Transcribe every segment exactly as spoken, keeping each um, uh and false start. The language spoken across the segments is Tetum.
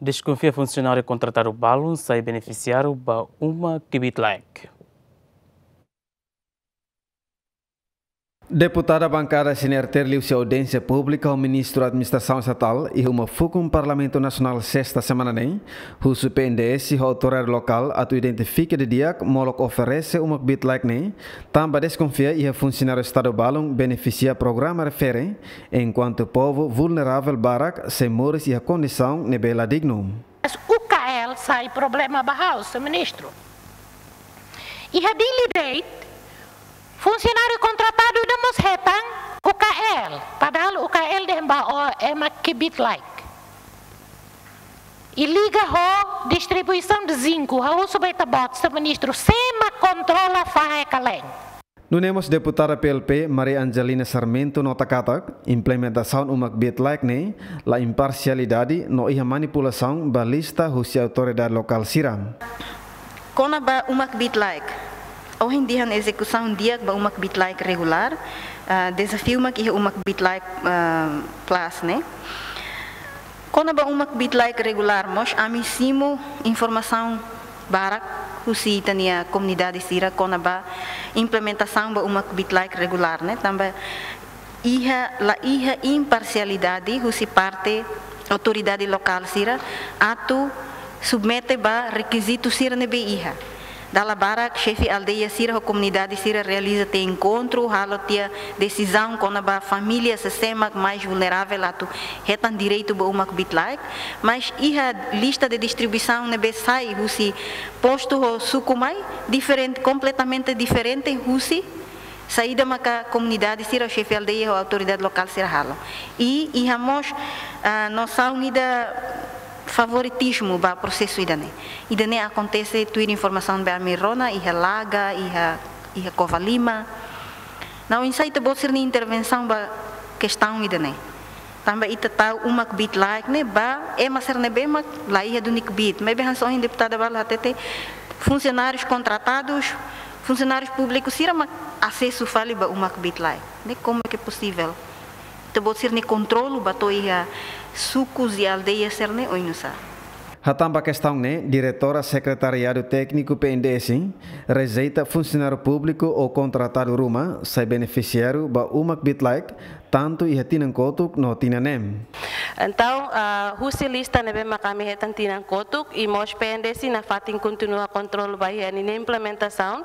Deskonfia funsionáriu kontratadu balun sai benefisiáriu ba uma kbiit-laek. Deputada bankada C N R T liuhusi audiénsia públika ho Ministru Administrasaun Estatál iha uma fukun Parlamentu Nasionál sesta semana ne'e, husu P N D S ho autoridade lokál atu identifika didi'ak molok oferese uma kbiit-laek ne'e, tanba deskonfia iha funsionáriu Estadu balun benefisia programa refere, enkuantu povu vulneravel barak sei moris iha kondisaun ne'ebé la dignu. Mas U K L sai problema ba ha'u, señór Ministru. Iha Dili de'it, funsionáriu kontratadu ida mós hetan U K L, padahal U K L dehan ba ema kbiit-laek. I liga ho distribuisaun de zinku, ha'u husu ba Ita-Boot, señór Ministru, sé mak kontrola fahe kalen. Nune'e mós deputada P L P, Maria Angelina Sarmento, nota katak implementasaun uma kbiit-laek ne'e la imparsialidade no iha manipulasaun ba lista husi autoridade lokál sira. Kona-ba uma kbiit-laek. Ohin dehan ezekusaun di'ak ba uma kbiit-laek regulár, ah, dezafiu mak iha uma kbiit-laek, ah, plus ne'e. Kona-ba uma kbiit-laek regulár mós, ami simu informasaun barak husi ita-nia komunidade sira kona-ba implementasaun ba uma kbiit-laek regulár ne'e, tanba iha, la iha imparsialidade husi parte autoridade lokál sira atu submete ba rekizitu sira ne'ebé iha. Dala barak xefe aldeia sira ho komunidade sira realiza tiha enkontru, halo tiha desizaun kona-ba família sé mak mais vulneravel atu hetan direitu ba uma kbiit-laek, mas iha lista de distribuisaun ne'ebé sai husi postu ho suku mai diferente, kompletamente diferente husi saida maka komunidade sira, xefe aldeia ho autoridade lokál sira halo. I iha mós, ah, nosaun ida favoritizmu ba prosesu ida-ne'e. Ida-ne'e akontese tuir informasaun ne'ebé ami rona iha Laga, iha, iha Covalima. Entaun oinsá Ita-Boot sira-nia intervensaun ba kestaun ida-ne'e? Tanba ita tau uma kbiit-laek ne'e ba ema sira ne'ebé mak la iha duni kbiit. Maibé hanesan ohin deputada balu hatete, funsionárius kontratadus, funsionárius públikus sira mak asesu fali ba uma kbiit-laek. Ne'e como é que é possível? Ita-Boot sira-nia kontrolu ba to'o iha sukus i aldeia sira-ne'e oinsá? Hatán ba kestaun ne'e, Diretora Sekretariadu Tékniku P N D S rejeita funsionáriu públiku ou kontratadu ruma sai benefisiáriu ba uma kbiit-laek, tantu iha tinan kotuk no tinan neen. Entaun, ah, husi lista ne'ebé mak ami hetan tinan kotuk, i mós P N D S nafatin kontinua kontrolu ba iha ninia implementasaun,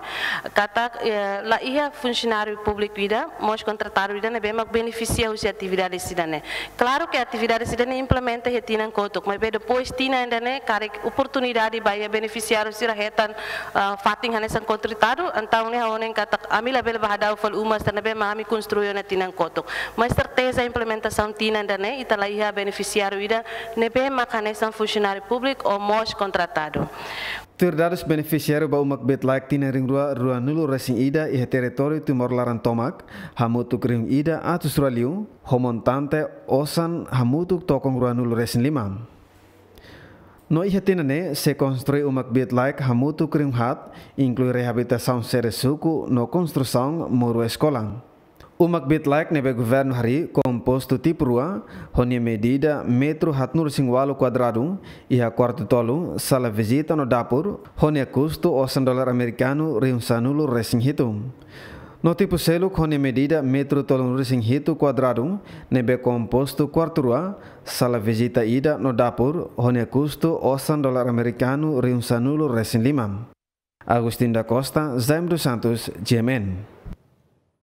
katak, eh, la iha funsionáriu públiku ida, mós kontratadu ida ne'ebé mak benefisia husi atividade sira-ne'e. Klaru ke atividade sira-ne'e implementa iha tinan kotuk, maibé depois tinan ida-ne'e karik oportunidade ba iha benefisiáriu sira hetan, ah, fatin hanesan kontratadu, entaun ne'e ha'u hanoin katak ami labele bá hadau fali uma sira ne'ebé mak ami konstrui ona tinan kotuk. Mas serteza implementasaun tinan ida-ne'e ita la iha benefisiáriu ida ne'ebé mak hanesan funsionáriu públiku ou mós kontratadu. Tuir dadus benefisiáriu ba uma kbiit-laek tinan rihun rua ruanulu resin ida iha territóriu Timor laran tomak, hamutuk rihun ida atus rua liu, ho montante osan hamutuk tokon ruanulu resin lima. No iha tinan ne'e sei konstrui uma kbiit-laek hamutuk rihun haat, inklui reabilitasaun sede suku no konstrusaun muru eskola. Uma kbiit-laek ne'ebé governu harii kompostu tipu rua, ho nia medida metru haatnulu resin ualu kuadradu, iha kuartu tolu, sala vizita no dapur, ho nia kustu osan dolar amerikanu rihun sanulu resin hitu. No tipu seluk ho nia medida metru tolunulu resin hitu kuadradu, ne'ebé kompostu kuartu rua, sala vizita ida no dapur, ho nia kustu osan dolar amerikanu rihun sanulu resin lima. Agostinho da Costa, Jaime dos Santos, G M N.